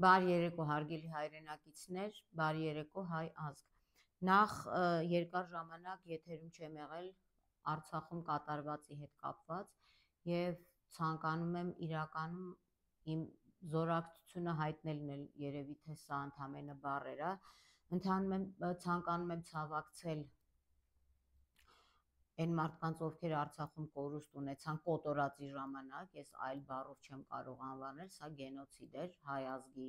Բարի երեկո հարգելի հայրենակիցներ, բարի երեկո հայ ազգ։ Նախ երկար ժամանակ եթերում չեմ եղել Արցախում կատարվածի հետ կապված եւ ցանկանում եմ իրականում իմ զորակցությունը հայտնելն էլ երևի թե սա ընդամենը բառեր է, ցանկանում եմ ցավակցել այն մարդկանց, ովքեր Արցախում կորուստ ունեցան կոտորածի ժամանակ, ես այլ բառով չեմ կարող անվանել, սա գենոցիդ էր հայ ազգի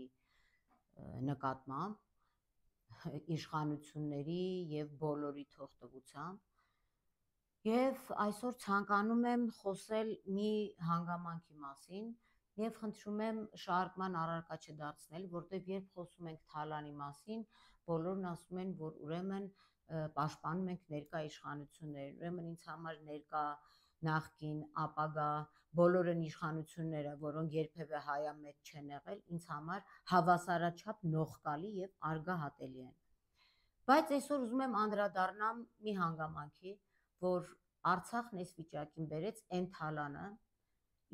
նկատմամբ իշխանությունների եւ բոլորի թողտվությամբ եւ այսօր ցանկանում եմ խոսել մի հանգամանքի մասին եւ խնդրում եմ շարժման առարկա չդարձնել, որտեղ երբ խոսում ենք Թալանի մասին, բոլորն ասում են, որ ուրեմն պաշտպանում ենք ներկա իշխանություններ, ուրեմն ինձ համար ներկա նախկին, ապագա, բոլորն իշխանությունները, որոնք երբևէ հայամետ չեն եղել, ինձ համար հավասարաչափ նողկալի եւ արգահատելի են։ Բայց այսօր ուզում եմ անդրադառնամ մի հանգամանքի, որ Արցախն այս վիճակին բերեց այն Թալանը,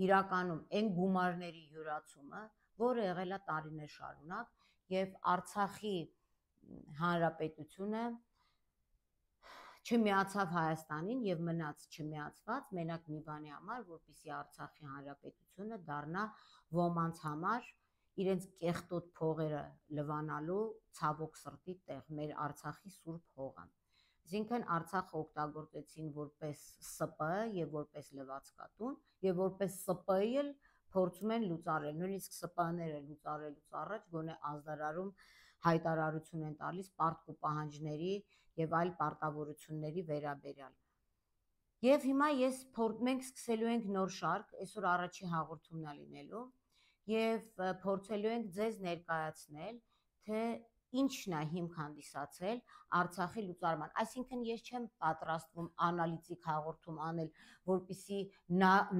իրականում այն գումարների յուրացումը, որը եղել է տարիներ շարունակ եւ Արցախի հանրապետությունը չմիացավ Հայաստանին եւ մնաց չմիացված մենակ մի բանի համար, որպեսզի Արցախի հանրապետությունը դառնա ոմանց համար իրենց կեղտոտ փողերը լվանալու ցավոք սրտի տեղ, մեր Արցախի սուրբ հողը։ Այսինքն Արցախը օգտագործեցին որպես ՍՊ եւ որպես լվացկատուն եւ որպես ՍՊ-ի էլ փորձում են լուծարել, նույնիսկ ՍՊ-ները լուծարելուց առաջ գոնե ազդարարում հայտարարություն են տալիս պարտք ու պահանջների եւ այլ պարտավորությունների վերաբերյալ։ Եվ հիմա մենք սկսելու ենք նոր շարք, այսօր առաջի հաղորդումն է լինելու եւ փորձելու ենք ձեզ ներկայացնել, թե ինչն է հիմք հանդիսացել Արցախի լուծարման։ Այսինքն ես չեմ պատրաստվում անալիտիկ հաղորդում անել, որպեսզի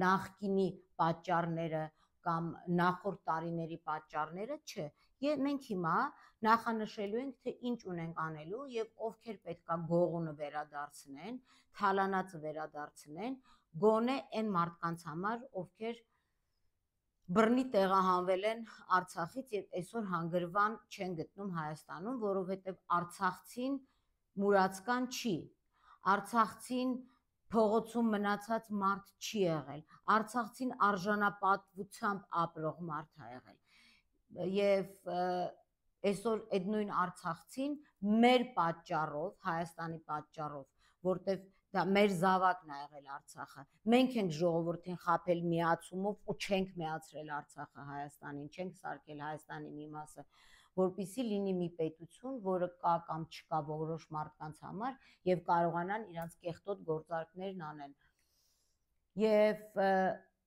նախկինի պատճառները կամ նախորդ տարիների պատճառները, չէ։ Մենք հիմա նախանշելու ենք, թե ինչ ունենք անելու եւ ովքեր պետքա գողունը վերադարձնեն, թալանածը վերադարձնեն, գոնե այն մարդկանց համար, ովքեր բռնի տեղահանվել են Արցախից եւ այսօր հանգրվան չեն գտնում Հայաստանում, որովհետեւ Արցախցին մուրացկան չի, Արցախցին փողոցում մնացած մարդ չի եղել, Արցախցին արժանապատվությամբ ապրող մարդ է եղել եւ այսօր այդ նույն Արցախցին մեր պատճառով, Հայաստանի պատճառով, որտեվ դա մեր զավակն է եղել Արցախը, մենք ենք ժողովրդին խաբել միացումով ու չենք միացրել Արցախը Հայաստանին, չենք սարքել Հայաստանի մի մասը, որպեսզի լինի մի պետություն, որը կա կամ չկա որոշ մարդկանց համար եւ կարողանան իրենց կեղտոտ գործարքներն անեն։ Եվ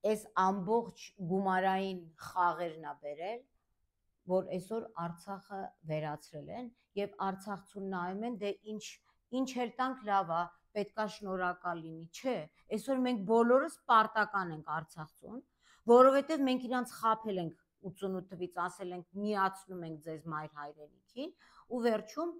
այս ամբողջ գումարային խաղերն է բերել, որ այսօր Արցախը վերացրել են եւ արցախցուն նայում են, դե ինչ էլ տանք լավ է, պետքա շնորհակալ լինի, չէ, այսօր մենք բոլորս պարտական ենք Արցախցուն, որովհետեւ մենք իրանց խաբել ենք 88 թվից, ասել ենք միացնում ենք ձեզ մայր հայրենիքին ու վերջում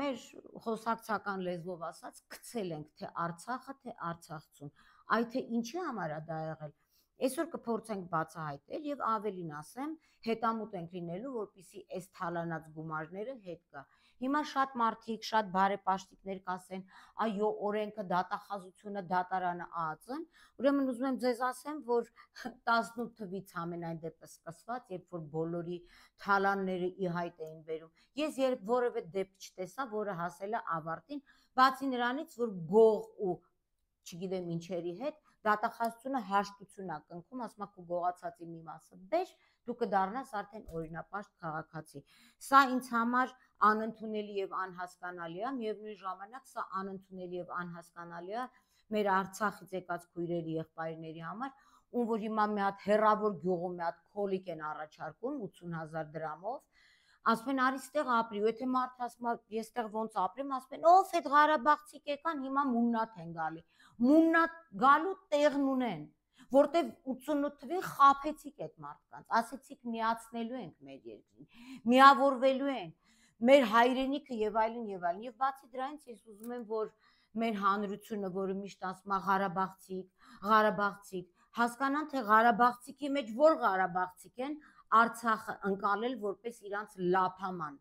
մեր խոսակցական լեզվով ասած գցել ենք թե Արցախը, թե արցախցուն, այ թե ինչի համար է դա եղել։ Այսօր կփորձենք բացահայտել եւ ավելին ասեմ, հետամուտ ենք լինելու, որպեսզի այս թալանած գումարները հետ գա։ Հիմա շատ մարդիկ, շատ բարեպաշտիկներ կասեն, այո, օրենքը, դատախազությունը, դատարանը ԱԱԾ-ն, ուրեմն ուզում եմ ձեզ ասեմ, որ 18 թվից ամենայն դեպս սկսված, երբ որ բոլորի թալանները ի հայտ էին բերում, ես երբ որևէ դեպք չտեսա, որը հասել է ավարտին, բացի նրանից, որ գող ու չգիտեմ ինչերի հետ դատախազությունը հաշտություն է կնքում, ասում է քո գողացածի մի մասը բեր, դու կդառնաս արդեն օրինապաշտ քաղաքացի։ Սա ինձ համար անընդունելի եւ անհասկանալի է, միևնույն ժամանակ սա անընդունելի եւ անհասկանալի է մեր Արցախից եկած քույրերի, եղբայրների համար, ում որ հիմա մի հատ հերավոր գյուղում մի հատ քոլիկ են առաջարկում 80,000 դրամով, ասում են արի ստեղ ապրի, ու եթե մարդը ասում է ես ստեղ ոնց ապրեմ, ասում են ով այդ Ղարաբաղցիք եկան, հիմա մուննաթ են գալի։ Մուննաթ գալու տեղն ունեն, որտեվ 88 թվին խաբեցիք այդ մարդկանց, ասեցիք միացնելու ենք մեր երկրին, միավորվելու ենք, մեր հայրենիքը եւ այլն եւ այլն։ Եվ բացի դրանից ես ուզում եմ, որ մեր հանրությունը, որը միշտ ասում է Ղարաբաղցիք, հասկանան, թե Ղարաբաղցիքի մեջ որ Ղարաբաղցիք են Արցախը ընկալել որպես իրանց լափաման։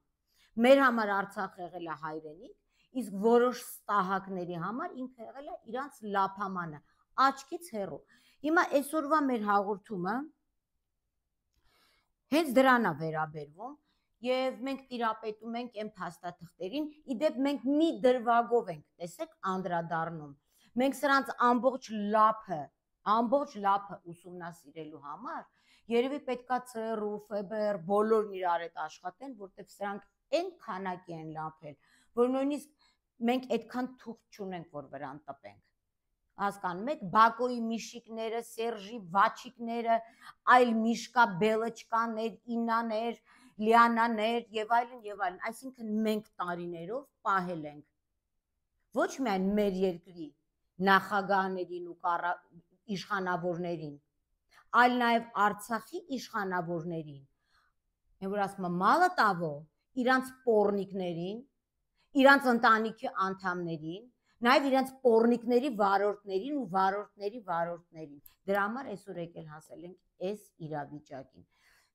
Մեր համար Արցախը եղել է հայրենիք, իսկ որոշ ստահակների համար ինքը եղել է իրանց լափամանը, աչքից հեռու։ Հիմա այսօրվա մեր հաղորդումը հենց դրան է վերաբերվում, եւ մենք տիրապետում ենք այն փաստաթղթերին, իդեպ մենք մի դրվագով ենք, տեսեք, անդրադառնում։ Մենք սրանց ամբողջ լափը ուսումնասիրելու համար երևի պետքա ՑՌՈ, ՖԲՌ բոլորն իրար հետ աշխատեն, որտեղ սրանք այն քանակի են լափել, որ նույնիսկ մենք այդքան թուղթ չունենք, որ վրան տպենք։ Հասկանում եք, Բակոյի միշիկները, Սերժի վաչիկները, այլ Միշկա Բելոչկաներ, Ինաներ, Լիանաներ եւ այլն, այսինքն մենք տարիներով պահել ենք ոչ միայն մեր երկրի նախագահներին ու իշխանավորներին, այլ նաեւ Արցախի իշխանավորներին, որ ասում եմ մալը տավո, իրանց պոռնիկներին, իրանց ընտանիքի անդամներին, նաեւ իրենց պոռնիկների վարորդներին ու վարորդների վարորդներին։ Դրա համար այսօր եկել հասել ենք այս իրավիճակին։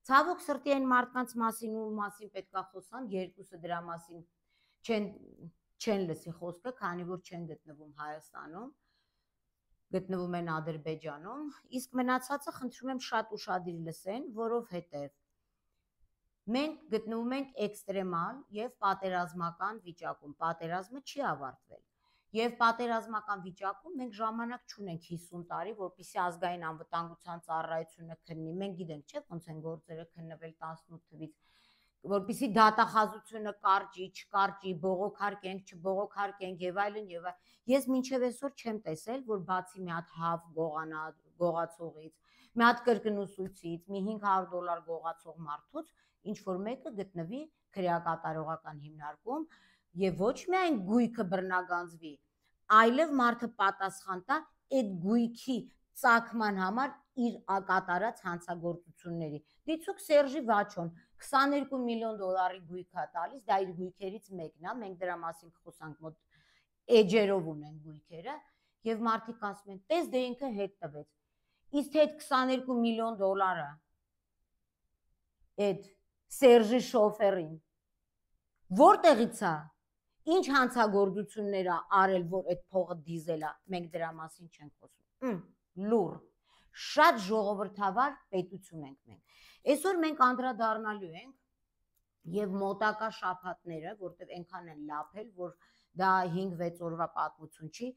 Ցավոք սրտի այն մարդկանց մասին ու մասին պետքա խոսամ, երկուսը դրա մասին չեն լսի խոսքը, քանի որ չեն գտնվում Հայաստանում, գտնվում են Ադրբեջանում, իսկ մնացածը խնդրում եմ շատ ուշադիր լսեն, որովհետև մենք գտնվում ենք էքստրեմալ եւ պատերազմական վիճակում, պատերազմը չի ավարտվել։ Եվ պատերազմական վիճակում մենք ժամանակ չունենք 50 տարի, որպեսզի ազգային անվտանգության ծառայությունը քննի։ Մենք գիտենք, չէ՞, ոնց են գործերը քննվել 18 թվից, որպեսզի դատախազությունը կարճի, չկարճի, բողոքարկենք, չբողոքարկենք եւ այլն եւ այլն։ Ես մինչեւ այսօր չեմ տեսել, որ բացի մի հատ հավ գողացողից, մի հատ կրկնուսույցից, մի $500 գողացող մարդուց ինչ որ մեկը գտնվի քրեակատարողական հիմնարկում եւ ոչ միայն գույքը բռնագանձվի, այլև մարդը պատասխան տա այդ գույքի ծագման համար իր կատարած հանցագործությունների։ Դիցուք Սերժի Վաչոն $22 միլիոն գույք է տալիս, դա իր գույքերից մեկն է, մենք դրա մասին խոսանք, մոտ էջերով ունեն գույքերը, եւ մարդիկ ասում են, տես դե ինքը հետ տվեց։ Իսկ այդ $22 միլիոն այդ Սերժի շոֆերին որտեղից է, ինչ հանցագործություններ ա արել, որ այդ փողը դիզել է, մենք դրա մասին չենք խոսում։ Լուր, շատ ժողովրդավար պետություն ենք մենք։ Այսօր մենք անդրադառնալու ենք եւ մոտակա շաբաթները, որտեղ այնքան են լափել, որ դա 5-6 օրվա պատմություն չի,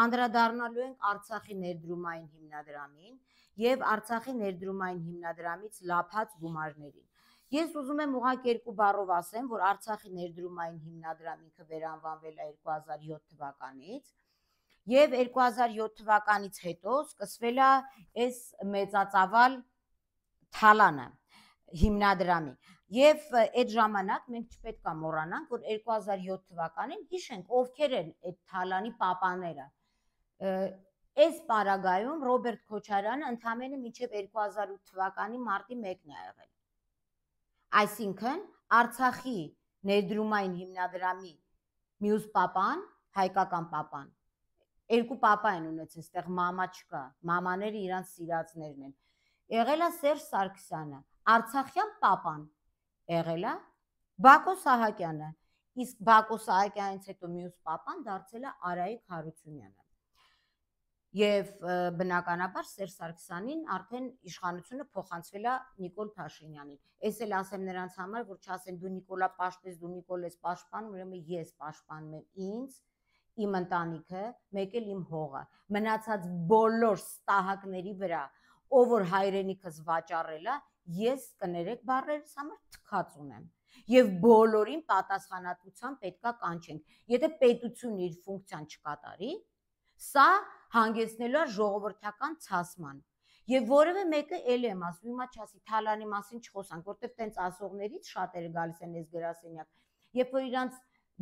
անդրադառնալու ենք Արցախի ներդրումային հիմնադրամին եւ Արցախի ներդրումային հիմնադրամից լափած գումարներին։ Ես ուզում եմ ուղղակի երկու բառով ասեմ, որ Արցախի ներդրումային հիմնադրամը ինքը վերանվանվել է 2007 թվականից եւ 2007 թվականից հետո սկսվել է այս մեծածավալ թալանը հիմնադրամի եւ այդ ժամանակ մենք չպետք է մոռանանք, որ 2007 թվականին հիշենք ովքեր են այդ թալանի պապաները։ Այս պարագայում Ռոբերտ Քոչարյանը ընդամենը մինչև 2008 թվականի մարտի 1-ն է եղել։ Այսինքն Արցախի ներդրումային հիմնադրամի մյուս պապան, հայկական պապան, երկու պապա են ունեցել, այստեղ մամա չկա, մամաները իրանց սիրածներն են։ Եղել է Սերժ Սարգսյանը, Արցախյան պապան եղել է Բակո Սահակյանը, իսկ Բակո Սահակյանից հետո մյուս պապան դարձել է Արայիկ Հարությունյանը։ Եվ բնականաբար Սերժ Սարգսյանին արդեն իշխանությունը փոխանցվել է Նիկոլ Փաշինյանին։ Այս էլ ասեմ նրանց համար, որ չասեն դու Նիկոլա պաշտես, դու Նիկոլ ես պաշտպանում, ուրեմն ես պաշտպանում եմ ինձ, իմ ընտանիքը, մեկ էլ իմ հողը։ Մնացած բոլոր ստահակների վրա, ով որ հայրենիքս վաճառել է, ես կներեք բառերս համար թքած ունեմ։ Եվ բոլորին պատասխանատվության պետքա կանչենք։ Եթե պետությունը իր ֆունկցիան չկատարի, սա հանգեցնելու է ժողովրդական ցասման։ Եվ որևէ մեկը էլ եմ ասում, հիմա չասի թալանի մասին չխոսանք, որտեղ տենց ասողներից շատերը գալիս են այս գրասենյակ, երբ որ իրանց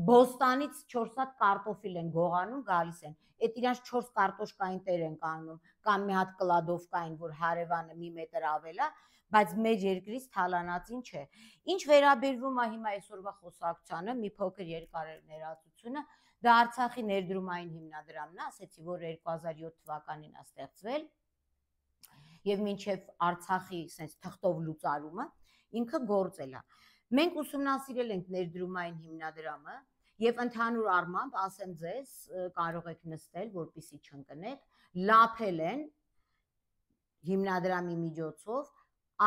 բոստանից 4 հատ կարտոֆիլ են գողանում, գալիս են, այդ իրանց 4 կարտոշկային տեր են կանգնում, կամ մի հատ կլադովկային, որ հարևանը մի մետր ավել է, բայց մեր երկրից թալանածին չէ։ Ինչ վերաբերվում է հիմա այսօրվա խոսակցությանը, մի փոքր երկար ներածությունը, դա Արցախի ներդրումային հիմնադրամն է, ասեցի, որ 2007 թվականին է ստեղծվել, եւ մինչեւ Արցախի sense թղթով լուծարումը ինքը գործել է։ Մենք ուսումնասիրել ենք ներդրումային հիմնադրամը եւ ընդհանուր առմամբ ասեմ ձեզ, կարող եք նստել, որպեսզի չընկնեք, լափել են հիմնադրամի միջոցով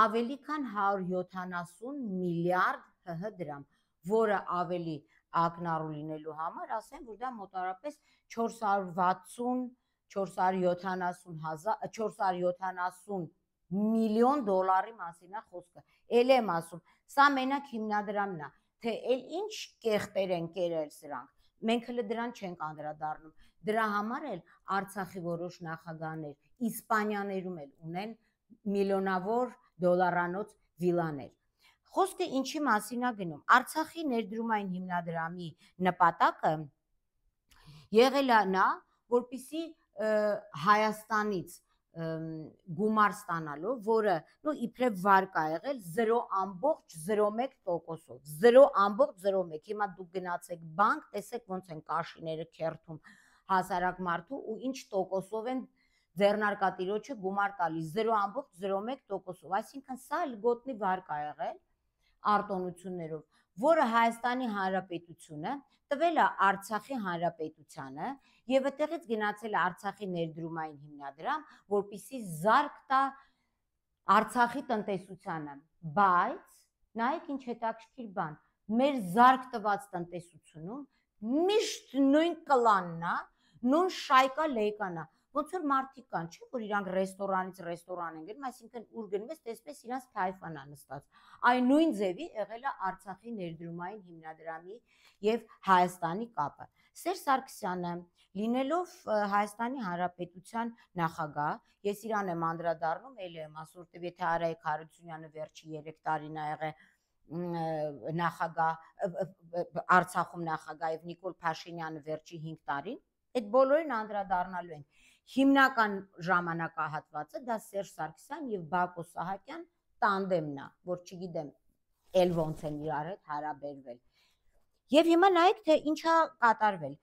ավելի քան 170 միլիարդ ՀՀ դրամ, որը ավելի ակնառու լինելու համար ասեմ, որ դա մոտարապես 470 միլիոն դոլարի մասին է խոսքը։ Էլ եմ ասում, սա մենակ հիմնադրամն է, թե էլ ինչ կեղտեր են կերել սրանք։ Մենք հենց դրան չենք անդրադառնում։ Դրա համար էլ Արցախի որոշ նախագահներ Իսպանիաներում էլ ունեն միլիոնավոր դոլարանոց վիլաներ։ Խոսքը ինչի մասին է գնում։ Արցախի ներդրումային հիմնադրամի նպատակը եղել է նա, որպեսզի Հայաստանից գումար ստանալով, որը իբրև վարկ է եղել 0.01%-ով, 0.01։ Հիմա դուք գնացեք բանկ, տեսեք ոնց են կաշիները քերթում հասարակ մարդու ու ինչ տոկոսով են ձեռնարկատիրոջը գումար տալիս 0.01%-ով, այսինքն սա լգոտնի վարկ է եղել արտոնություններով, որը Հայաստանի Հանրապետությունը տվել է Արցախի Հանրապետությանը եւ այդտեղից գնացել է Արցախի ներդրումային հիմնադրամ, որպեսզի զարկ տա Արցախի տնտեսությանը, բայց նայեք ինչ հետաքրքիր բան, մեր զարկ տված տնտեսությունում միշտ նույն կլանն է, նույն շայկա լեյկան է, ոնց որ մարդիկ կան, չէ՞ որ իրանք ռեստորանից ռեստորան են գնում, այսինքն ուր գնում ես, տեսպես իրանց թայֆան է նստած։ Այն նույն ձևի եղել է Արցախի ներդրումային հիմնադրամի եւ Հայաստանի կապը։ Սերժ Սարգսյանը, լինելով Հայաստանի Հանրապետության նախագահ, ես իրան եմ անդրադառնում, ելի եմ ասում, որտեւ եթե Արայք Հարությունյանը վերջի 3 տարին ա եղել նախագահ Արցախում նախագահ եւ Նիկոլ Փաշինյանը վերջի 5 տարին, այդ բոլորին անդրադառնալու են։ Հիմնական ժամանակահատվածը դա Սերժ Սարգսյան եւ Բակո Սահակյան տանդեմն է, որ չգիտեմ էլ ոնց են իրար հետ հարաբերվել։ Եվ հիմա նայեք, թե ինչա կատարվել։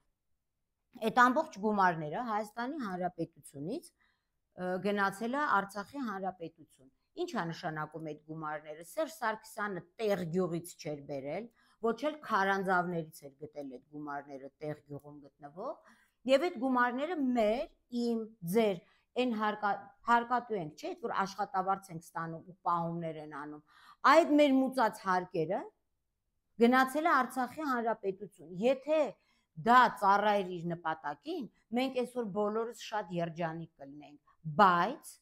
Այդ ամբողջ գումարները Հայաստանի Հանրապետությունից գնացել է Արցախի Հանրապետություն։ Ինչ է նշանակում այդ գումարները։ Սերժ Սարգսյանը տեղ գյուղից չէր բերել, ոչ էլ քարանձավներից էր գտել այդ գումարները տեղ գյուղում գտնվող, եւ այդ գումարները մեր, իմ, ձեր այն հարկատու ենք, չէ՞, որ աշխատավարձ ենք ստանում ու պահումներ են անում։ Այդ մեր մուծած հարկերը գնացել է Արցախի Հանրապետություն։ Եթե դա ծառայեր իր նպատակին, մենք այսօր բոլորս շատ երջանիկ կլինենք, բայց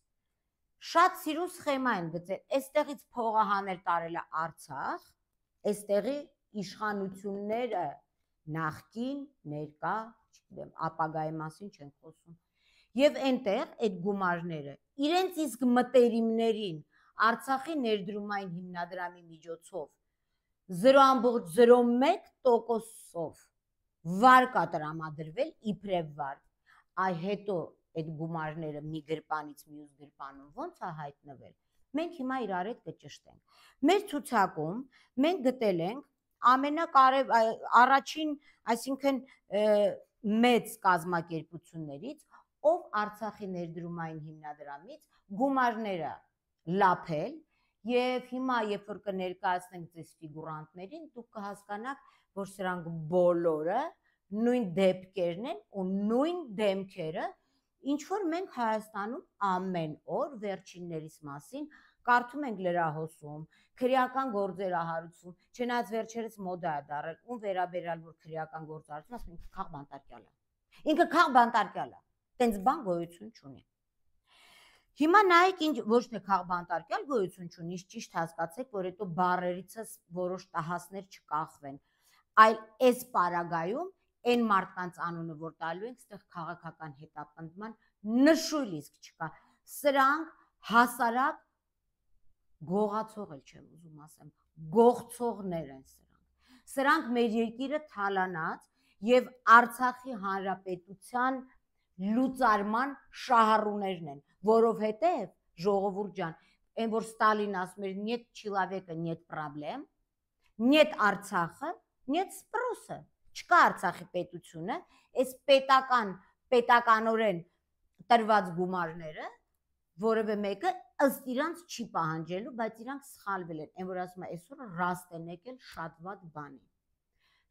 շատ սիրուն սխեմա են գծել, այստեղից փողը հանել տարել է Արցախ, այստեղի իշխանությունները նախկին, ներկա, չգիտեմ, ապագայի մասին չեն խոսում։ Եվ այնտեղ այդ գումարները իրենց իսկ մտերիմներին Արցախի ներդրումային հիմնադրամի միջոցով 0.01%-ով վարկ է տրամադրվել իբրև վարկ, այ հետո այդ գումարները մի գրպանից մյուս գրպանում ոնց է հայտնվել, մենք հիմա իրար հետ կճշտենք։ Մեր ցուցակում մենք գտել ենք առաջին, այսինքն մեծ կազմակերպություններից, ով Արցախի ներդրումային հիմնադրամից գումարները լափել, եւ հիմա երբ որ կներկայացնենք ձեզ ֆիգուրանտներին, դուք կհասկանաք, որ սրանք բոլորը նույն դեպքերն են ու նույն դեմքերը, ինչ որ մենք Հայաստանում ամեն օր վերջիններիս մասին կարդում ենք լրահոսում, քրեական գործեր ահարուցում, չնայած վերջերս մոդա է դարել, ում վերաբերյալ որ քրեական գործարություն, ասում ինքը քաղ բանտարկյալ է։ Ինքը քաղ բանտարկյալ է, տենց բան գոյություն չունի։ Հիմա նայեք, ոչ թե քաղ բանտարկյալ գոյություն չունի, ճիշտ հասկացեք, որ հետո բառերիցս որոշ տահասներ չկախվեն, այլ այս պարագայում այն մարդկանց անունը, որ տալու ենք, ստեղ քաղաքական հետապնդման նշույլ իսկ չկա։ Սրանք հասարակ գողացող էլ չեմ ուզում ասեմ, գողցողներ են սրանք։ Սրանք մեր երկիրը թալանած եւ Արցախի Հանրապետության լուծարման շահառուներն են, որովհետեւ ժողովուրդ ջան, այն որ Ստալին ասում էր «Нет человека, нет проблем», «Нет Արցախը, нет спроса», չկա Արցախի պետությունը, այս պետականորեն տրված գումարները որևէ մեկը ըստ իրանց չի պահանջելու, բայց իրանք սխալվել են, այն որ ասում է այսօր ռաստ են եկել շատ վատ բանի։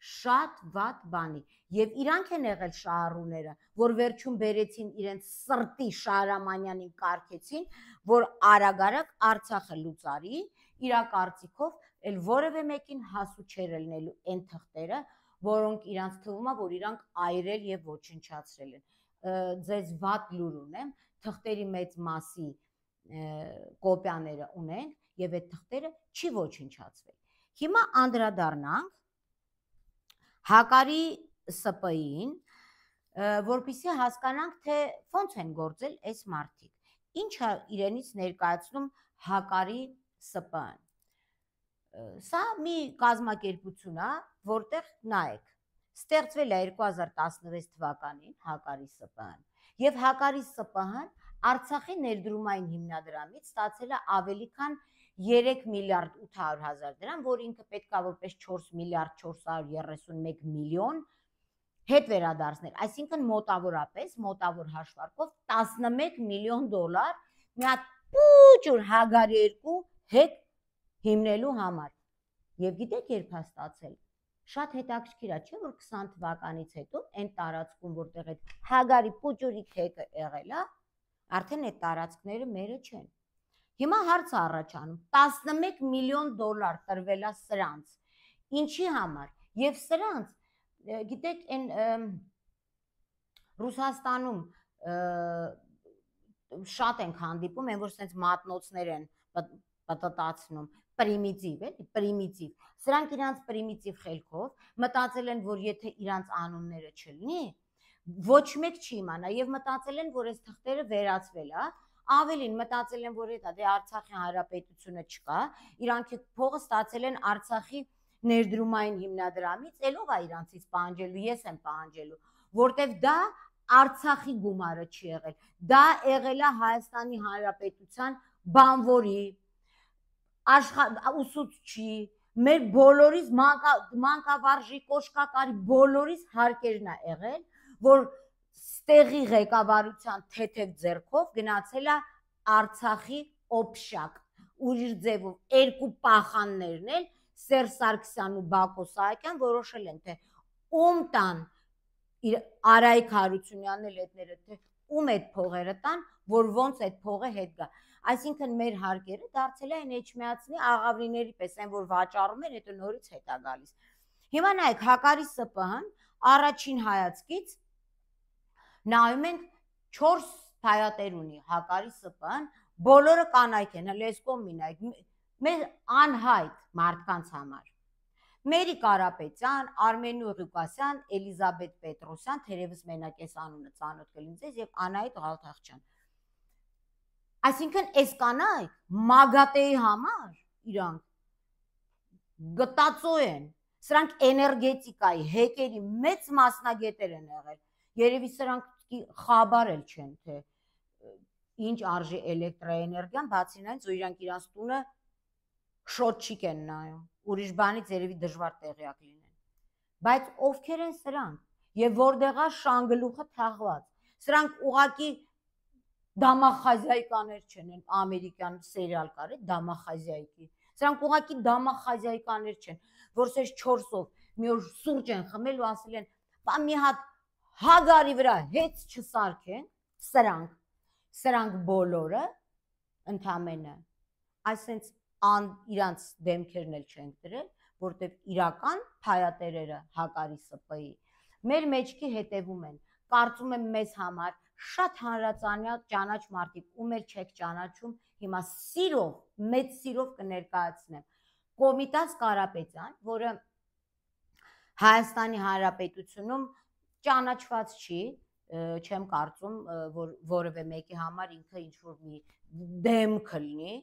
Շատ վատ բանի, եւ իրանք են եղել շահառուները, որ վերջում բերեցին իրենց սրտի Շահրամանյանին կարգեցին, որ արագ-արագ Արցախը լուծարի, իրա կարծիքով էլ որևէ մեկին հասու չէր ելնելու այն թղթերը, որոնք իրանք թվում է, որ իրանք այրել եւ ոչնչացրել են։ Ձեզ վատ լուր ունեմ, թղթերի մեծ մասի կոպիաները ունենք եւ այդ թղթերը չի ոչնչացվել։ Հիմա անդրադառնանք Հակարի ՍՊ-ին, որպեսզի հասկանանք, թե ոնց են գործել այս մարդիկ։ Ինչ է իրենից ներկայացնում Հակարի ՍՊ-ն։ Սա մի կազմակերպություն է, որտեղ նայեք, ստեղծվել է 2016 թվականին Հակարի ՍՊ-ն, եւ Հակարի ՍՊ-ն Արցախի ներդրումային հիմնադրամից ստացել է ավելի քան 3 միլիարդ 800 հազար դրամ, որ ինքը պետք է որպես 4 միլիարդ 431 միլիոն հետ վերադարձնել, այսինքն մոտավոր հաշվարկով 11 միլիոն դոլար մի հատ փուճուր Հագարի 2 հետ հիմնելու համար։ Եվ գիտեք երբ է ստացել։ Շատ հետաքրքիր է, չէ՞ որ 20 թվականից հետո այն տարածքում, որտեղ այդ Հագարի փուճուրի քեքը եղել է, արդեն այդ տարածքները մերը չեն։ Հիմա հարց է առաջանում, 11 միլիոն դոլար տրվել է սրանց։ Ինչի համար։ Եվ սրանց, գիտեք, այն Ռուսաստանում շատ ենք հանդիպում, այն որ sense մատնոցներ են պատտացնում, պրիմիտիվ, էլի, պրիմիտիվ։ Սրանք իրանց պրիմիտիվ խելքով մտածել են, որ եթե իրանց անունները չլինի, ոչ մեկ չի իմանա եւ մտածել են, որ այս թղթերը վերացվել է, ավելին մտածել են, որ դա դե Արցախի հանրապետությունը չկա, իրանք փողը ստացել են Արցախի ներդրումային հիմնադրամից, ելով է իրանցից պահանջելու, ես եմ պահանջելու, որտեվ դա Արցախի գումարը չի եղել, դա եղել է Հայաստանի Հանրապետության բանվորի, ուսուցչի, մեր բոլորիս մանկավարժի, կոշկակարի բոլորիս հարկերն է եղել, որ ստեղի ղեկավարության թեթև ձեռքով գնացել է Արցախի օբշակ, ուրիշ ձևով երկու պախաններն էլ Սերժ Սարգսյանն ու Բակո Սահակյան որոշել են, թե ում տան Արայիկ Հարությունյանն էլ հետները, թե ում այդ փողերը տան, որ ոնց այդ փողը հետ գա։ Այսինքն մեր հարկերը դարձել են Էջմիածնի աղավնիների պես, այն որ վաճառում են, հետո նորից հետ է գալիս։ Հիմա նայեք, Հակարի ՍՊ-ն առաջին հայացքից նայում ենք 4 փայատեր ունի Հակարի ՍՊ-ն, բոլորը կանայք են, հələ այս կողմին նայեք, մեր անհայտ մարդկանց համար։ Մերի Կարապետյան, Արմենու Ղուկասյան, Էլիզաբետ Պետրոսյան, թերևս մենակ այս անունը ծանոթ կլինի ձեզ, եւ Անահիտ Ղալթախչյան։ Այսինքն այս կանայք մագատեի համար իրանք գտածո են, սրանք էներգետիկայի, հեկերի մեծ մասնագետեր են եղել, երևի սրանք խաբար էլ չեն, թե ինչ արժի էլեկտրաէներգիան, բացի նրանից, որ իրանք իրանց տունը շոթչիկ են նայում, ուրիշ բանից երևի դժվար տեղյակ լինեն, բայց ովքեր են սրանք, եւ որտեղ է շանգլուխը թաղված, սրանք ուղակի դամախազիայկաներ չեն, ամերիկյան սերիալ կար է, դամախազիայկի, սրանք ուղակի դամախազիայկաներ չեն, որ սեզ 4-ով մի օր սուրճ են խմել ու ասել են, բա մի հատ Հագարի վրա հետ չսարքեն, սրանք բոլորը ընդամենը, այսենց իրանց դեմքերն էլ չենք դրել, որտեվ իրական փայատերերը Հակարի ՍՊ-ի մեր մեջքի հետևում են, կարծում եմ մեզ համար շատ հանրածանյալ ճանաչ մարդիկ, ում էլ չեք ճանաչում, հիմա սիրով, մեծ սիրով կներկայացնեմ, Կոմիտաս Կարապետյան, որը Հայաստանի Հանրապետությունում ճանաչված չի, չեմ կարծում, որ որևէ մեկի համար ինքը ինչ-որ մի դեմք լինի,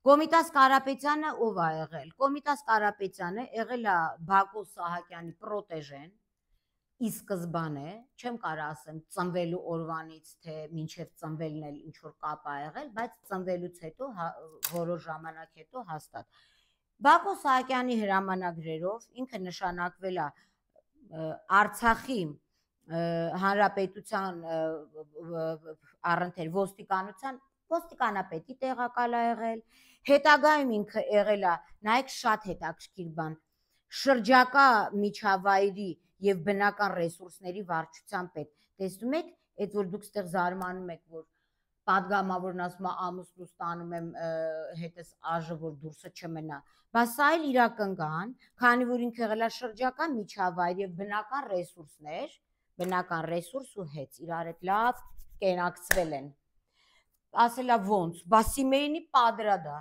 Կոմիտաս Կարապետյանը ով է եղել, Կոմիտաս Կարապետյանը եղել է Բակո Սահակյանի պրոտեժեն, ի սկզբանե, չեմ կարող ասեմ ծնվելու օրվանից, թե մինչև ծնվելն էլ ինչ-որ կապ է եղել, բայց ծնվելուց հետո, որոշ ժամանակ հետո հաստատ։ Բակո Սահակյանի հրամանագրերով ինքը նշանակվել է Արցախի հանրապետության առընթեր ոստիկանապետի տեղակալ է եղել, հետագայում ինքը եղել է, նայեք շատ հետաքրքիր բան, շրջակա միջավայրի եւ բնական ռեսուրսների վարչության պետ։ Տեսնում եք, այդ որ դուք ստեղ զարմանում եք, որ պատգամավորն ասում է ամուսնուս տանում եմ հետս աժը, որ դուրսը չմնա, բայց սա էլ իրակնկան, քանի որ ինքը եղել է շրջակա միջավայր եւ բնական ռեսուրս ու հետ իրար հետ լավ կենակցվել են։ Ասել է ոնց, բա Սիմեյնի պատրադա,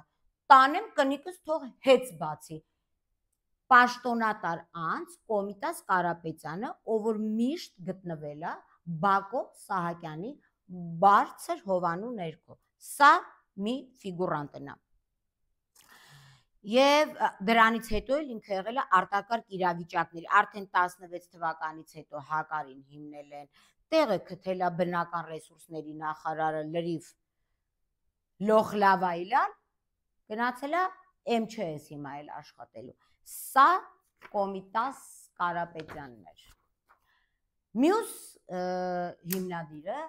տանեմ կնիկս թող հետ բացի։ Պաշտոնատար անձ Կոմիտաս Կարապետյանը, ով որ միշտ գտնվել է Բակո Սահակյանի բարձր հովանու ներքո, սա մի ֆիգուրանտն է։ Եվ դրանից հետո էլ ինքը եղել է արտակարգ իրավիճակների, արդեն 16 թվականից հետո Հակարին հիմնել են, տեղը գտել է բնական ռեսուրսների նախարարը լրիվ լոխլավայլան, գնացել է MÇS հիմա էլ աշխատելու։ Սա Կոմիտաս Կարապետյանն էր։ Մյուս հիմնադիրը,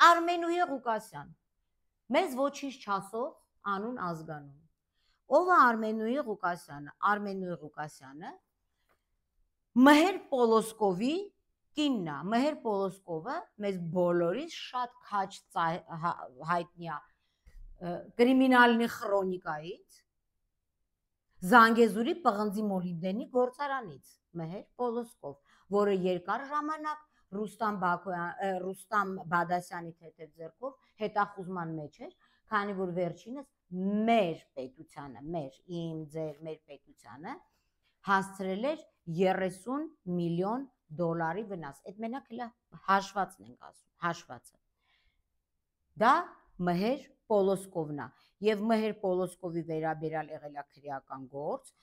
Արմենուհի Ղուկասյան, մեզ ոչինչ չասող անուն ազգանուն։ Ով է Արմենուհի Ղուկասյանը։ Արմենուհի Ղուկասյանը Մհեր Պոլոսկովի կինն է։ Մհեր Պոլոսկովը մեզ բոլորիս շատ քաչ հայտնի է կրիմինալնի խրոնիկայից, Զանգեզուրի պղնձի մոլիբդենի գործարանից, Մհեր Պոլոսկով, որը երկար ժամանակ Ռուստամ Բադասյանի թեթև ձեռքով հետախուզման մեջ էր, քանի որ վերջինս մեր պետությանը, մեր պետությանը հասցրել էր 30 միլիոն դոլարի վնաս։ Այդ մենակ հլա հաշվացն ենք ասում, հաշվացը։ Դա Մհեր Պոլոսկովն է, եւ Մհեր Պոլոսկովի վերաբերյալ եղել է քրեական գործ,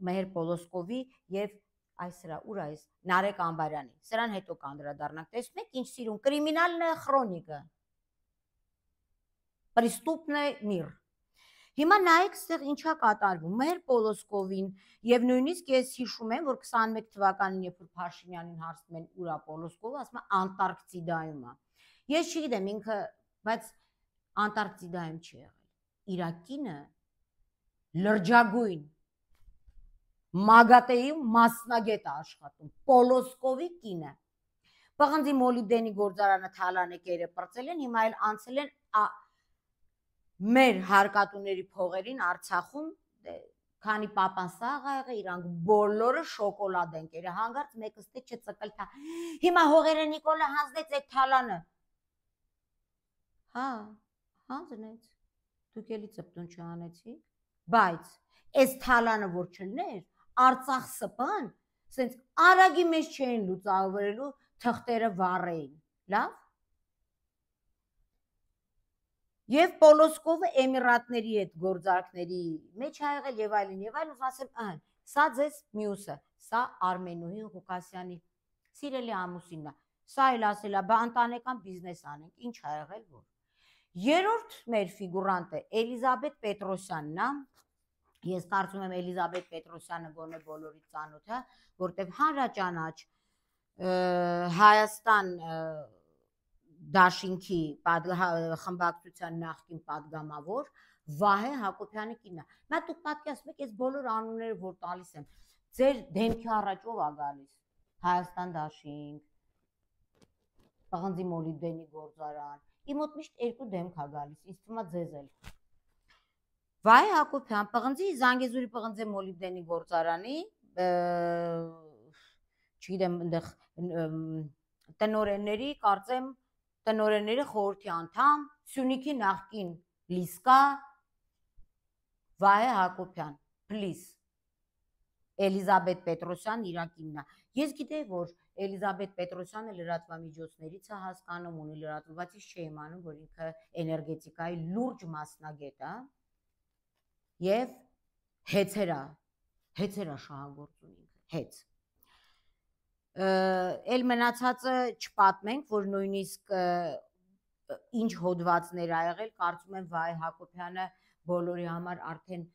Մհեր Պոլոսկովի եւ այսրա ուր այս Նարեկ Անբարյանի, սրան հետո կանդրադառնանք։ Տեսնում եք ինչ սիրուն կրիմինալնա խրոնիկը, պրեստուպնե միր։ Հիմա նայեք ստեղ ինչա կատարվում, Մհեր Պոլոսկովին եւ նույնիսկ ես հիշում եմ, որ 21 թվականին երբ որ Փաշինյանին հարցնում են ուր է Պոլոսկովը, ասում է Անտարկտիդայում է։ Ես չգիտեմ ինքը, բայց Անտարկտիդայում չի եղել։ Իր կինը լրջագույն Մագատեի մասնագետ է աշխատում, Պոլոսկովի կինը։ Պղնձի մոլիբդենի գործարանը թալանեկերը պրծել են, հիմա էլ անցել են մեր հարկատուների փողերին Արցախում, քանի պապան սաղ ա եղել, իրանք բոլորը շոկոլադ են կերել, հանգարց մեկը ստե չծկլ թա։ Հիմա հողերը Նիկոլը հանձնեց այդ թալանը։ Հա, հանձնեց։ Դուք էլի ծպտուն չանեցիք, բայց այս թալանը որ չլներ, Արցախ սպան, սենց արագի մեջ չէին լուծավորելու թղթերը վառեին, լավ։ Եվ Պոլոսկովը Էմիրատների հետ գործարքների մեջ ա եղել եւ այլն, ասեմ, սա ձեզ մյուսը, սա Արմենուհի Ղուկասյանի սիրելի ամուսինն է, սա էլ ասել է, բա ընտանեկան բիզնես անենք, ինչ ա եղել որ։ Երրորդ մեր ֆիգուրանտը Էլիզաբեթ Պետրոսյանն է, ես կարծում եմ Էլիզաբեթ Պետրոսյանը գոնե բոլորի ծանոթ է, որտեղ հանրաճանաչ Հայաստան Դաշինքի խմբակցության նախկին պատգամավոր Վահե Հակոբյանի կինն է։ Նա դուք պատկերացնում եք, այս բոլոր անունները որ տալիս եմ, ձեր դեմքի առաջ ով է գալիս։ Հայաստան Դաշինք, պղնձի մոլիբդենի գործարան։ Իմ մոտ միշտ երկու դեմք է գալիս, ինձ թվում է ձեզ էլ։ Վահե Հակոբյան, Զանգեզուրի պղնձի մոլիբդենի գործարանի, չգիտեմ, այնտեղ տնօրենների, կարծեմ տնօրենների խորհրդի անդամ, Սյունիքի նախկին լիսկա Վահե Հակոբյան, please։ Էլիզաբեթ Պետրոսյան իր կինն է։ Ես գիտեի, որ Էլիզաբեթ Պետրոսյանը լրատվամիջոցներից է հասկանում, ունի լրատվում, բայց ես չէի իմանում, որ ինքը էներգետիկայի լուրջ մասնագետ է եւ հեծեր է շահագործում ինքը, հեծ։ Էլ մնացածը չպատմենք, որ նույնիսկ ինչ հոդվածներ ա եղել, կարծում եմ Վահե Հակոբյանը բոլորի համար արդեն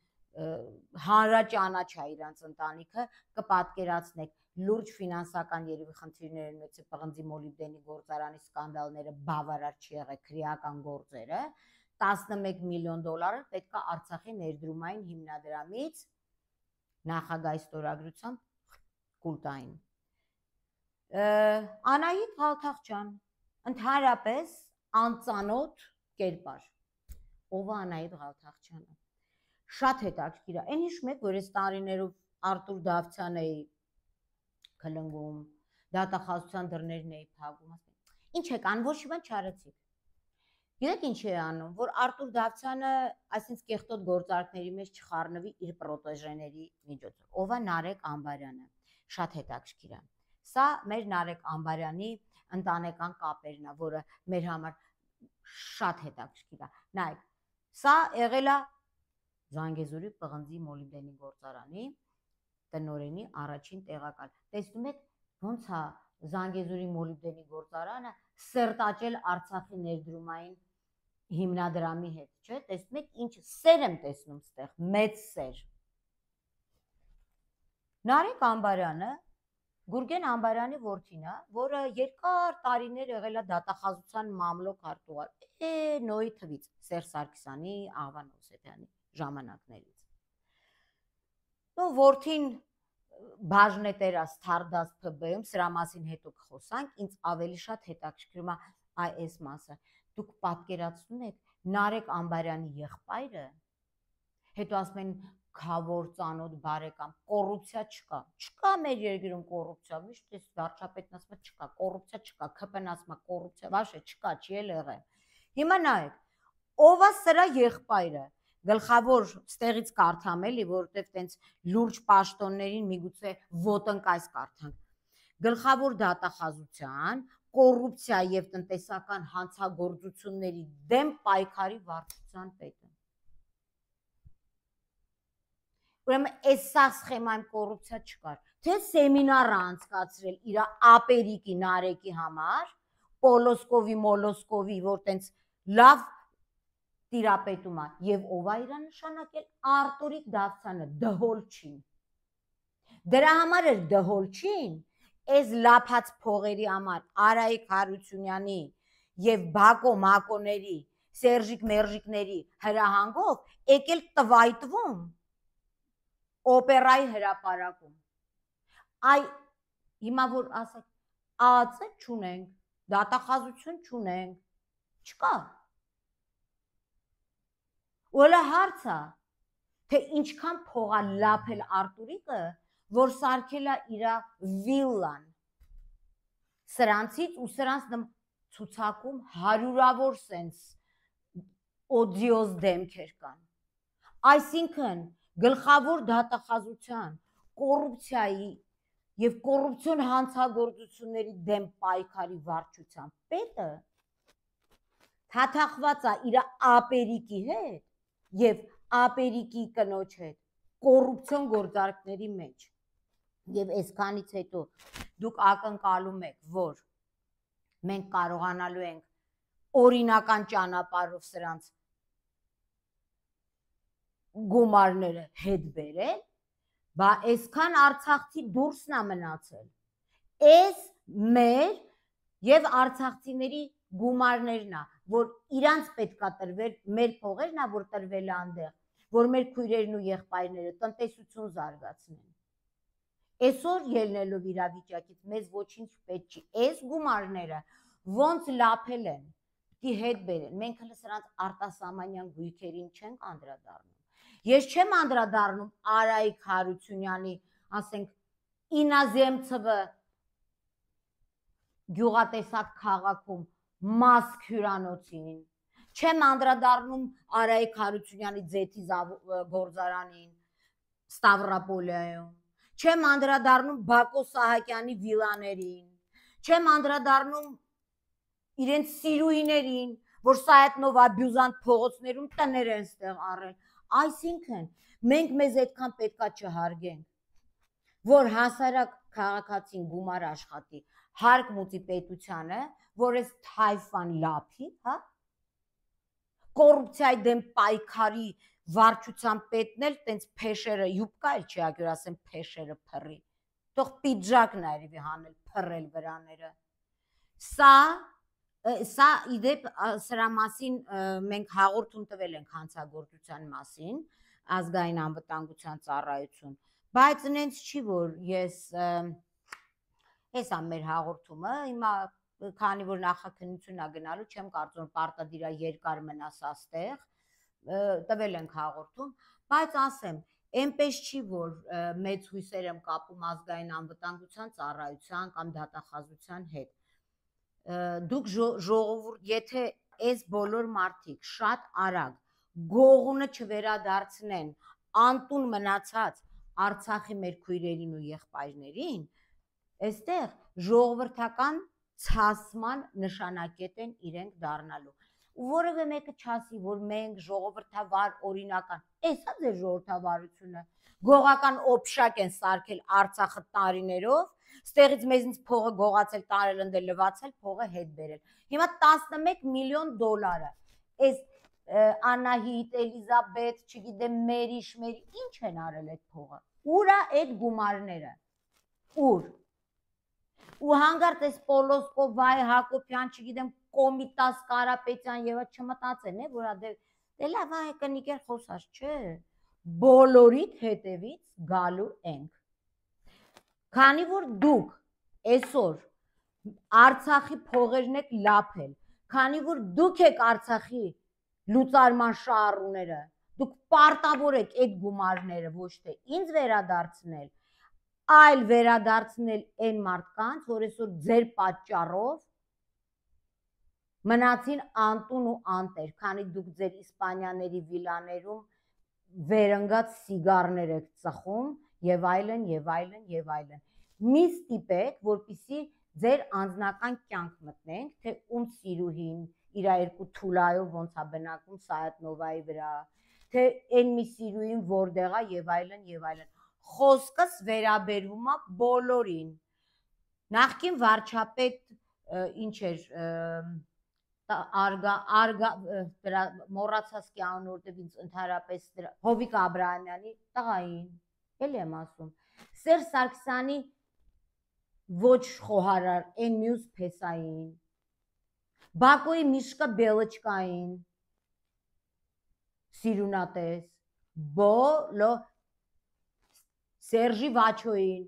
հանրաճանաչ է իրանց ընտանիքը, կպատկերացնեք լուրջ ֆինանսական երևի խնդիրներ են մեծ պղնձի մոլիբդենի գործարանի սկանդալները, բավարար չի եղել քրեական գործերը, 11 միլիոն դոլարը պետք է Արցախի ներդրումային հիմնադրամից նախագահի ստորագրությամբ կուլտային։ Անահիտ Ղալթախջան, ընդհանրապես անծանոթ կերպար, ով է Անահիտ Ղալթախջյանը, շատ հետաքրքիր է, այն հիշում եք, որ այս տարիներով Արտուր Դավթյանն էի քլնգում, դատախազության դռներն էի փակում, ինչ եք անում, ոչ մի բան չարեցիք։ Գիտեք ինչ է անում, որ Արտուր Դավթյանը այսինքն կեղտոտ գործարքների մեջ չխառնվի իր պրոտեժեների միջոցով։ Ով է Նարեկ Ամբարյանը, շատ հետաքրքիր է։ Սա մեր Նարեկ Ամբարյանի ընտանեկան կապերն է, որը մեր համար շատ հետաքրքիր է։ Նայեք, սա եղել է Զանգեզուրի պղնձի մոլիբդենի գործարանի տնօրենի առաջին տեղակալ։ Տեսնում եք ոնց է Զանգեզուրի մոլիբդենի գործարանը սերտաճել Արցախի ներդրումային հիմնադրամի հետ, չէ՞, տեսնում եք ինչ սեր եմ տեսնում ստեղ, մեծ սեր։ Նարեկ Ամբարյանը Գուրգեն Ամբարյանի որդին է, որը երկար տարիներ եղել է դատախազության մամլոք արտուղար, նոյի թվից, Սերժ Սարգսյանի, Աղվան Հովսեփյանի ժամանակներից։ Որդին բաժնետերաս Թարդաս ՓԲ-ում, սրա մասին հետո կխոսանք, ինձ ավելի շատ հետաքրքրում է այս մասը։ Դուք պատկերացնում եք Նարեկ Ամբարյանի եղբայրը, հետո ասում են քավոր ծանոթ բարեկամ, կոռուպցիա չկա, չկա մեր երկրում կոռուպցիա, միշտ էս վարչապետն ասում է չկա, կոռուպցիա չկա, ՔՊ-ն ասում է կոռուպցիա, վաշե չկա, չի էլ եղել։ Հիմա նայեք, ով է սրա եղբայրը, գլխավոր ստեղից կարդամ էլի, որովհետև տենց լուրջ պաշտոններին միգուցե ոտնկայս կարդանք։ Գլխավոր դատախազության կոռուպցիա եւ տնտեսական հանցագործությունների դեմ պայքարի վարչության պետը։ Ուրեմն այս սա սխեմայում կոռուպցիա չկար, թե սեմինար անցկացրել իր ապերիկի Նարեկի համար, Պոլոսկովի, որ տենց լավ տիրապետում է, եւ ով է իրան նշանակել Արտուրիկ Դավթյանը, Դհոլչին։ Դրա համար էր Դհոլչին, այս լափած փողերի համար Արայիկ Հարությունյանի եւ Բակո Մակոների, Սերժիկ Մերժիկների հրահանգով եկել տվայտվում օպերայի հրապարակում։ Այ հիմա որ ասեք, ԱԱՑ չունենք, դատախազություն չունենք, չկա։ Ուղղակի հարց է, թե ինչքան փող է լափել Արտուրիկը, որ սարքել է իր վիլլան։ Սրանցից ու սրանց ցուցակում հարյուրավոր սենց օդիոզ դեմքեր կան։ Այսինքն գլխավոր դատախազության կոռուպցիայի եւ կոռուպցիոն հանցագործությունների դեմ պայքարի վարչության պետը թաթախված է իր ապերիկի հետ եւ ապերիկի կնոջ հետ կոռուպցիոն գործարքների մեջ։ Եվ այսքանից հետո դուք ակնկալում եք, որ մենք կարողանալու ենք օրինական ճանապարհով սրանց գումարները հետ բերել, բա այսքան արցախցի դուրսն է մնացել։ Այս մեր եւ արցախցիների գումարներն է, որ իրանց պետքա տրվել, մեր փողերն է, որ տրվել է այնտեղ, որ մեր քույրերն ու եղբայրները տնտեսություն զարգացնեն։ Այսօր ելնելով իրավիճակից մեզ ոչինչ պետք չի։ Այս գումարները ոնց լափել են, պիտի հետ բերեն։ Մենք հենց սրանց արտասահմանյան գույքերին չենք անդրադառնում։ Ես չեմ անդրադառնում Արայիկ Հարությունյանի, ասենք, Ինազեմցովը գյուղատեսակ քաղաքում Մասկ հյուրանոցին, չեմ անդրադառնում Արայիկ Հարությունյանի ձեթի գործարանին Ստավրապոլիայում, չեմ անդրադառնում Բակո Սահակյանի վիլաներին, չեմ անդրադառնում իրենց սիրուհիներին, որ Սայեթնով աբյուզանտ փողոցներում տներ են ստեղ առել։ Այսինքն մենք մեզ այդքան պետքա չհարգենք, որ հասարակ քաղաքացին գումար աշխատի, հարկ մուծի պետությանը, որ այս թայֆան լափի, հա, կոռուպցիայի դեմ պայքարի վարչության պետն էլ տենց փեշերը յուբկա էլ չի ակյուր ասեմ փեշերը փռի թող պիջակն այրվի հանել փռել վրաները սա իդեպ սրա մասին մենք հաղորդում տվել ենք հանցագործության մասին ազգային անվտանգության ծառայություն բայց նենց չի որ ես հեսա մեր հաղորդումը հիմա քանի որ նախաքննություն ա գնալու չեմ կարծում պարտադիր ա երկար մնաս աստեղ տվել ենք հաղորդում, բայց ասեմ, այնպես չի, որ մեծ հույսեր եմ կապում ազգային անվտանգության ծառայության կամ դատախազության հետ։ Դուք ժողովուրդ, եթե այս բոլոր մարդիկ շատ արագ գողունը չվերադարձնեն անտուն մնացած Արցախի մեր քույրերին ու եղբայրներին, այստեղ ժողովրդական ցասման նշանակետ են իրենք դառնալու։ Որևէ մեկը չասի, որ մենք ժողովրդավար օրինական, էսա ձեր ժողովրդավարությունը, գողական օբշակ են սարքել Արցախը տարիներով, ստեղից մեզնից փողը գողացել, տարել ընդել լվացել, փողը հետ բերել։ Հիմա 11 միլիոն դոլարը, այս Անահիտ, Էլիզաբեթ, չգիտեմ, Մերիշ, ինչ են արել այդ փողը։ Ուր է այդ գումարները։ Ուր։ Ու հանգարտ այս Պոլոսկով, Վայ Հակոբյան, չգիտեմ, Կոմիտաս Կարապետյան եւ չմտածեն, որ դե լավ է կնիկեր խոսած, չէ։ Բոլորիդ հետևից գալու ենք։ Քանի որ դուք այսօր Արցախի փողերն եք լափել, քանի որ դուք եք Արցախի լուծարման շահառուները, դուք պարտավոր եք այդ գումարները ոչ թե ինձ վերադարձնել, այլ վերադարձնել այն մարդկանց, որ այսօր ձեր պատճառով մնացին անտուն ու անտեր, քանի դուք ձեր իսպանյաների վիլաներում վերընկած սիգարներ եք ծխում եւ այլն եւ այլն եւ այլն։ Մի ստիպեք, որպեսզի ձեր անձնական կյանք մտնենք, թե ում սիրուհին իր երկու թուլայով ոնց է բնակում Սայաթնովայի վրա, թե այն մի սիրուհին որտեղ է եւ այլն եւ այլն։ Խոսքս վերաբերվում է բոլորին։ Նախկին վարչապետ ինչ էր մոռացած კი անուն որտեվ ինձ ընդհանրապես Հովիկ Աբրահամյանի տղային, էլի եմ ասում, Սերժ Սարգսյանի ոչ խոհարար այն մյուս փեսային, Բակոյի Միշկա Բելոչկային, սիրունատես, բոլո Սերժի Վաչոյին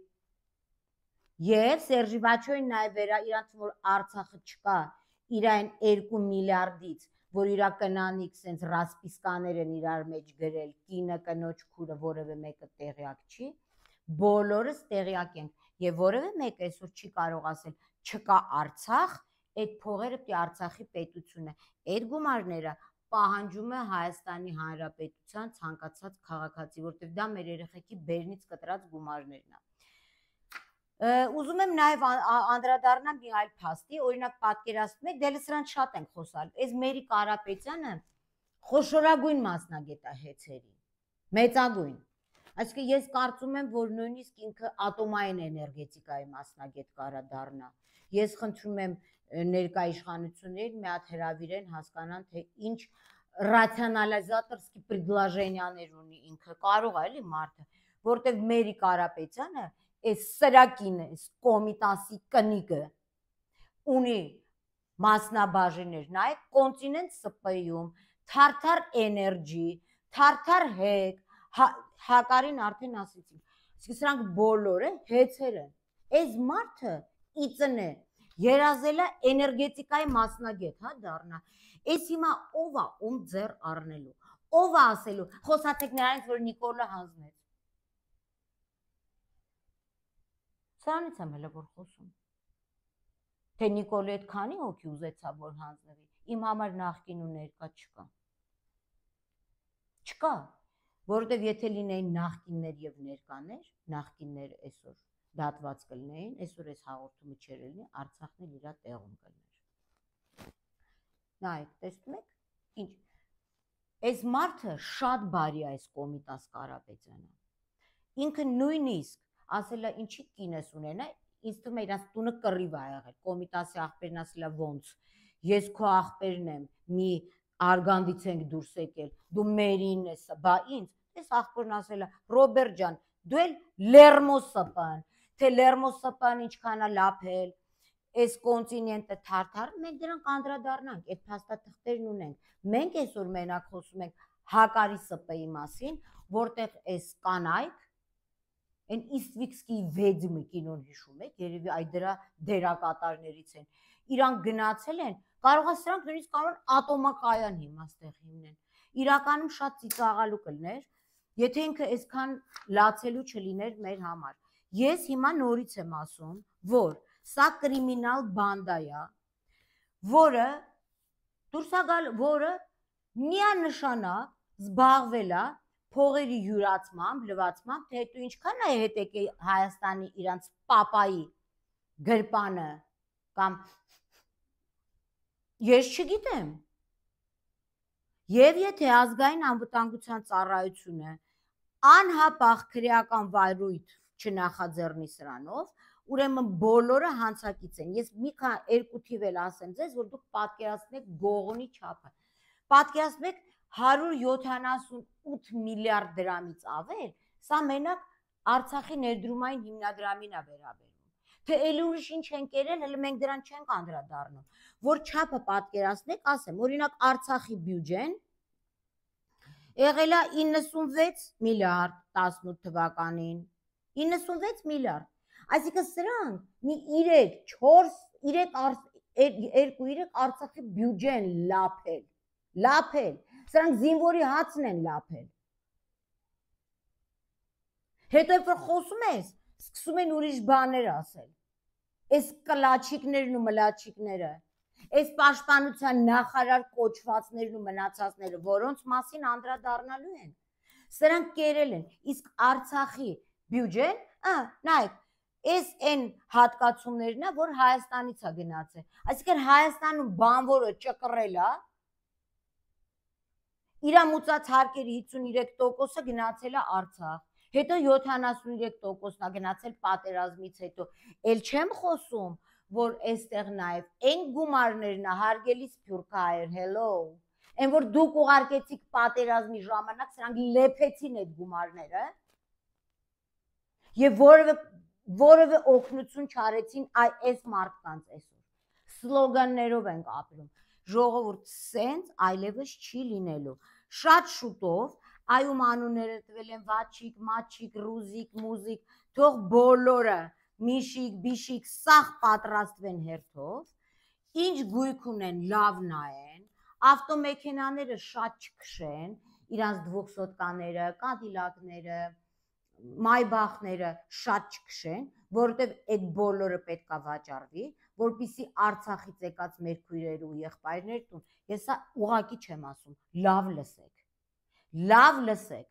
եւ Սերժի Վաչոյին նաեւ իրանց որ Արցախը չկա իրային 2 միլիարդից, որ իրա կնանիք սենց ռասպիսկաներ են իրար մեջ գրել, կինը, կնոջ քուրը, որևէ մեկը տեղյակ չի, բոլորս տեղյակ ենք եւ որևէ մեկ այսօր չի կարող ասել չկա Արցախ, այդ փողերը պիտի Արցախի պետությունը, այդ գումարները պահանջում է Հայաստանի Հանրապետության ցանկացած քաղաքացի, որտեղ դա մեր երեխեքի բերնից կտրած գումարներն է։ Ուզում եմ նաև անդրադառնամ մի այլ փաստի, օրինակ պատկերացնում եք, դե սրանց շատ ենք խոսալ։ Այս Մերի Կարապետյանը խոշորագույն մասնագետ է հեծերի, մեծագույն։ Այսինքն ես կարծում եմ, որ նույնիսկ ինքը ատոմային էներգետիկայի մասնագետ կարա դառնա։ Ես խնդրում եմ ներկա իշխանություններին մի հատ հրավիրեն, հասկանան, թե ինչ ռացիոնալիզատորսկի предложենիաներ ունի ինքը, կարող է էլի մարդը, որտեղ Մերի Կարապետյանը այս սրակինը, այս կոմիտասի կնիկը ունի մասնաբաժիններ, նայեք կոնտինենտ ՍՊ-ում, Թարթար էներջի, Թարթար հեկ, Հակարին արդեն ասեցին, սրանք բոլորը հեծեր են, այս մարդը իծն է, երազել է էներգետիկայի մասնագետ, հա դառնա, այս հիմա ով է ում ձեռ առնելու, ով է ասելու, խոսացեք նրանից, որ Նիկոլը հանձնեց, սրանից եմ հələ որ խոսում, թե Նիկոլը այդ քանի հոգի ուզեցավ, որ հանձնվի, իմ համար նախկին ու ներկա չկա, որովհետև եթե լինեին նախկիններ եւ ներկաներ, նախկինները այսօր դատված կլինեին, այսօր այս հաղորդումը չէր լինի, Արցախն էլ իր տեղում կլիներ։ Նայեք, տեսնում եք, ինչ։ Այս մարդը շատ բարի է այս Կոմիտաս Կարապետյանը։ Ինքը նույնիսկ ասել է ինչի կինես ունենա, ինձ թվում է իրանց տունը կռիվ ա եղել, Կոմիտասի աղբերն ասել է ոնց, ես քո աղբերն եմ, մի արգանդից ենք դուրս եկել, դու մերին ես, բա ինձ, ես աղբորն ասել է, Ռոբերտ ջան, դու էլ Լերմոսսպան, թե Լերմոսսպան ինչքան է լափել, այս կոնտինենտը թարթար, մենք դրանք անդրադառնանք, այդ փաստաթղթերն ունենք, մենք այսօր մենակ խոսում ենք Հակարի ՍՊ-ի մասին, որտեղ այս կանայք, այն Իստվիքսկիի վեդմի կինոն հիշում եք, երևի այդ դրա դերակատարներից են, իրանք գնացել են, կարող է սրանք նույնիսկ կարող են ատոմակայան հիմաստեղ հիմնեն, իրականում շատ ծիծաղալու կլներ, եթե ինքը այսքան լացելու չլիներ մեր համար, ես հիմա նորից եմ ասում, որ սա կրիմինալ բանդա է, որը դուրս է գալ, որը միանշանակ զբաղվել է փողերի յուրացմամբ, լվացմամբ, թե հետո ինչքան է հետ եկել Հայաստանի իրանց պապայի գրպանը կամ ես չգիտեմ։ Եվ եթե ազգային անվտանգության ծառայությունը անհապաղ քրեական վայրույթ չնախաձեռնի սրանով, ուրեմն բոլորը հանցակից են։ Ես մի քանի երկու թիվ էլ ասեմ ձեզ, որ դուք պատկերացնեք գողոնի չափը։ Պատկերացնեք 178 միլիարդ դրամից ավել, սա մենակ Արցախի ներդրումային հիմնադրամին է վերաբերում։ Թե էլի ուրիշ ինչ են կերել, հələ մենք դրան չենք անդրադառնում, որ չափը պատկերացնեք, ասեմ, օրինակ Արցախի բյուջեն եղել է 96 միլիարդ 18 թվականին, 96 միլիարդ, այսինքն սրանք մի 2-3 Արցախի բյուջեն լափել, սրանք զինվորի հացն են լափել, հետո երբ որ խոսում ես, սկսում են ուրիշ բաներ ասել, այս կլաչիկներն ու մլաչիկները, այս պաշտպանության նախարար կոչվածներն ու մնացածները, որոնց մասին անդրադառնալու են, սրանք կերել են, իսկ Արցախի բյուջեն, նայեք, այս այն հատկացումներն է, որ Հայաստանից է գնացել, այսինքն Հայաստանում բանվորը ճկռել է, իր մուծած հարկերի 53%-ը գնացել է Արցախ, հետո 73%-ն է գնացել պատերազմից հետո, էլ չեմ խոսում, որ այստեղ նաև այն գումարներն է հարգելի սփյուռքահայեր, hello, այն որ դուք ուղարկեցիք պատերազմի ժամանակ, սրանք լեփեցին այդ գումարները եւ որևէ օգնություն չարեցին այս մարդկանց այսօր։ Սլոգաններով ենք ապրում։ Ժողովուրդ սենց այլևս չի լինելու։ Շատ շուտով այում անունները տվել են Վաչիկ, Մաչիկ, Ռուզիկ, Մուզիկ, թող բոլորը Միշիկ, Բիշիկ, սաղ պատրաստվեն հերթով, ինչ գույք ունեն լավ նայեն, ավտոմեքենաները շատ չքշեն, իրանց դվոքսոտկաները, կադիլակները, մայբախները շատ չքշեն, որովհետև այդ բոլորը պետք է վաճառվի, որպեսզի Արցախից եկած մեր քույրեր ու եղբայրներ տուն, ես սա ուղղակի չեմ ասում, լավ լսեք,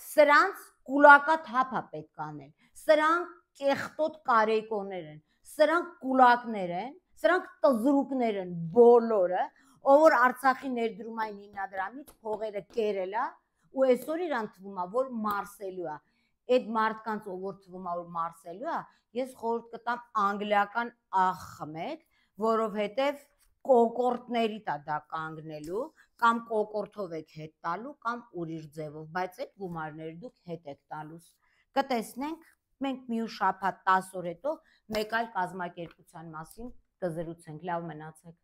սրանց կուլակաթափ է պետք անել, սրանք կեղտոտ կարեկոներ են, սրանք կուլակներ են, սրանք տզրուկներ են բոլորը, ով որ Արցախի ներդրումային հիմնադրամից փողերը կերել է ու այսօր իրան թվում է, որ մարսելու է, այդ մարդկանց ով որ թվում է, որ մարսելու է, ես խորհուրդ կտամ անգլիական աղ խմեք, որովհետև կոկորտների դա կանգնելու, կամ կոկորտով եք հետ տալու, կամ ուրիշ ձևով, բայց այդ գումարները դուք հետ եք տալուս, կտեսնենք, մենք մի շաբաթ 10 օր հետո մեկ այլ կազմակերպության մասին կզրուցենք, լավ մնացեք։